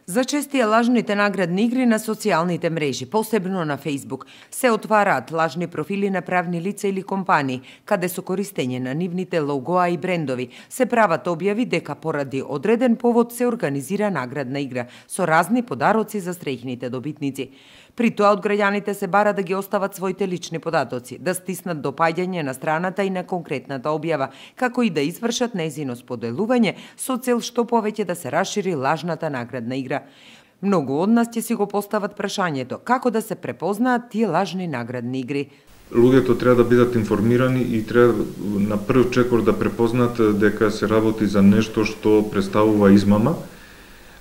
Зачестија лажните наградни игри на социјалните мрежи, посебно на Facebook, се отвараат лажни профили на правни лица или компании, каде со користење на нивните логоа и брендови се прават објави дека поради одреден повод се организира наградна игра со разни подароци за среќните добитници. При тоа од граѓаните се бара да ги остават своите лични податоци, да стиснат допаѓање на страната и на конкретната објава, како и да извршат нејзино споделување со цел што повеќе да се расшири лажната наградна игра. Многу од нас ќе си го постават прашањето како да се препознаат тие лажни наградни игри. Луѓето треба да бидат информирани и треба на прв чекор да препознаат дека се работи за нешто што представува измама.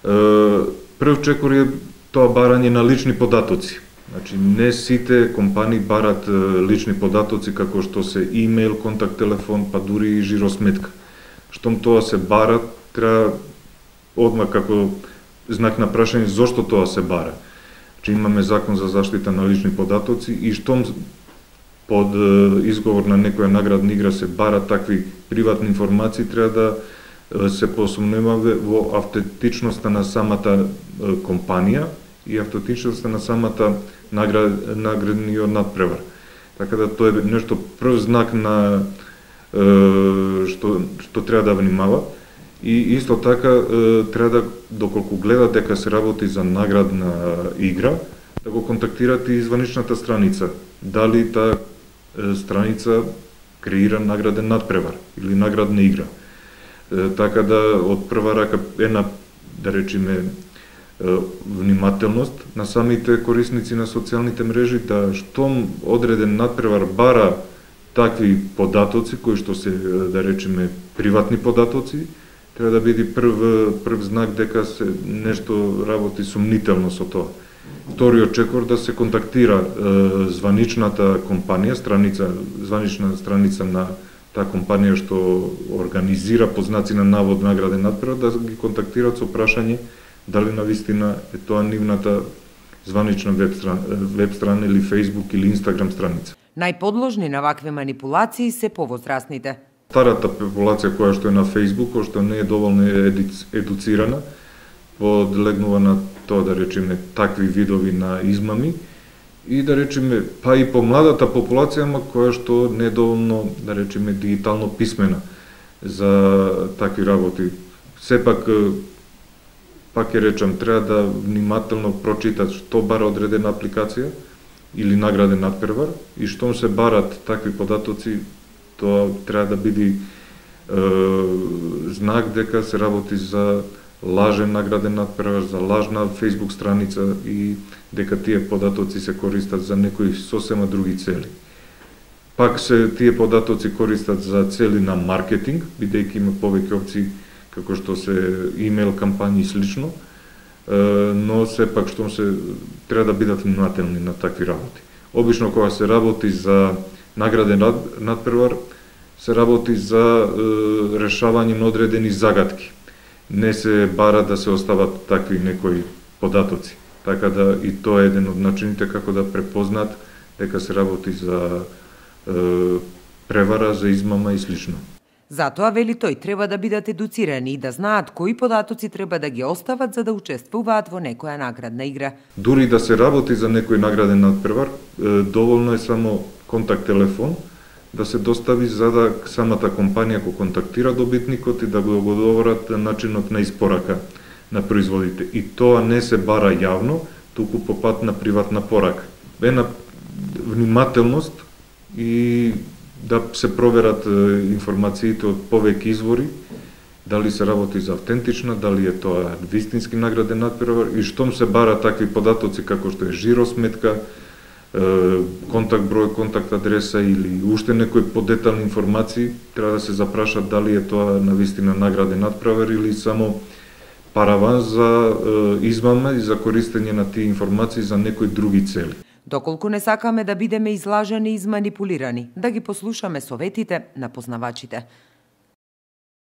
Прв чекор е тоа барање на лични податоци. Значи, не сите компании барат лични податоци како што се имејл, контакт телефон, па дури и жиросметка. Штом тоа се бара, треба одмак како знак на прашање зошто тоа се бара. Значи, имаме закон за заштита на лични податоци и штом под изговор на некоја наградна игра се бара такви приватни информации, треба да се посумневаме во автентичноста на самата компанија и автентичноста на самата наградниот надпревар. Така да тоа е нешто прв знак на што треба да внимава. И исто така треба да, доколку гледа дека се работи за наградна игра, да го контактирате и званичната страница. Дали таа страница креира награден надпревар или наградна игра. Така да од прва рака една, да речеме, внимателност на самите корисници на социјалните мрежи, да штом одреден надпревар бара такви податоци кои што се, да речеме, приватни податоци, треба да биде прв знак дека се нешто работи сумнително со тоа. Вториот чекор да се контактира званичната компанија, званична страница на таа компанија што организира по знаци на навод награден надпревар, да ги контактираат со прашање дали навистина е тоа нивната званична веб страна или Facebook или Instagram страница. Најподложни на вакви манипулации се повозрастните. Старата популација која што е на Facebook, која што не е доволно едуцирана, подлегнува на тоа, да речеме, такви видови на измами и, да речеме, па и помладата популација, која што не е доволно, да речеме, дигитално писмена за такви работи. Сепак, пак ќе речам, треба да внимателно прочитат што бара одредена апликација или награден надпревар и штом се барат такви податоци, тоа треба да биде знак дека се работи за лажен награден надпревар, за лажна Facebook страница и дека тие податоци се користат за некои сосема други цели. Пак се тие податоци користат за цели на маркетинг, бидејќи има повеќе опции како што се имејл кампањи и слично, но сепак штом се треба да бидат внимателни на такви работи. Обично кога се работи за награден надпревар, се работи за решавање на одредени загадки. Не се бара да се остават такви некои податоци. Така да и тоа е еден од начините како да препознаат дека се работи за превара, за измама и слично. Затоа, вели тој, треба да бидат едуцирани и да знаат кои податоци треба да ги остават за да учествуваат во некоја наградна игра. Дури да се работи за некој награден надпревар, доволно е само контакт телефон да се достави за да самата компанија го контактира добитникот и да го договорат начинот на испорака на производите. И тоа не се бара јавно, туку по пат на приватна порака. Една внимателност и да се проверат информациите од повеќе извори, дали се работи за автентична, дали е тоа вистински награден надпревар и штом се бара такви податоци како што е жиросметка, контакт број, контакт адреса или уште некои подетални информации, треба да се запрашат дали е тоа навистина награден надпревар или само параван за измама и за користење на тие информации за некои други цели. Доколку не сакаме да бидеме излажени и изманипулирани, да ги послушаме советите на познавачите.